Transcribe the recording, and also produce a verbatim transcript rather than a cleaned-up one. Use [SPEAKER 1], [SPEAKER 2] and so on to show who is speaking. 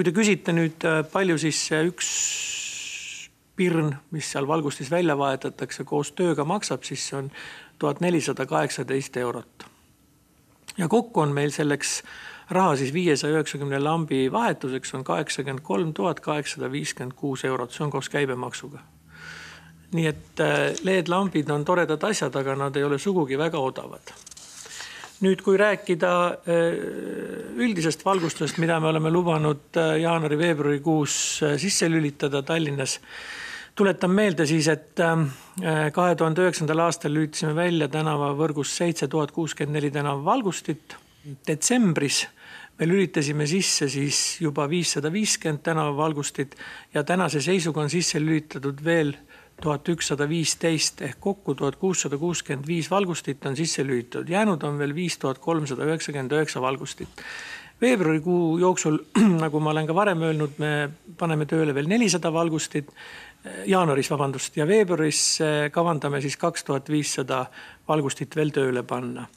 [SPEAKER 1] Kui te küsite nüüd palju siis üks pirn, mis seal valgustis välja vahetatakse, koos tööga maksab, siis see on tuhat nelisada kaheksateist eurot. Ja kokku on meil selleks raha siis viiesaja üheksakümne lambi vahetuseks on kaheksakümmend kolm tuhat kaheksasada viiskümmend kuus eurot. See on koos käibemaksuga. Nii et L E D-lambid on toredad asjad, aga nad ei ole sugugi väga odavad. Nüüd, kui rääkida üldisest valgustusest, mida me oleme lubanud jaanuari-veebruari kuus sisse lülitada Tallinnas, tuletan meelde siis, et kahe tuhande üheksandal aastal lülitasime välja tänavavõrgus seitse tuhat kuuskümmend neli tänava valgustit. Detsembris me lülitasime sisse siis juba viissada viiskümmend tänava valgustit ja tänase seisuga on sisse lülitatud veel tuhat ükssada viisteist ehk kokku tuhat kuussada kuuskümmend viis valgustit on sisse lülitatud. Jäänud on veel viis tuhat kolmsada üheksakümmend üheksa valgustit. Veebruarikuu jooksul, nagu ma olen ka varem öelnud, me paneme tööle veel nelisada valgustit, jaanuaris, vabandust, ja veebruaris kavandame siis kaks tuhat viissada valgustit veel tööle panna.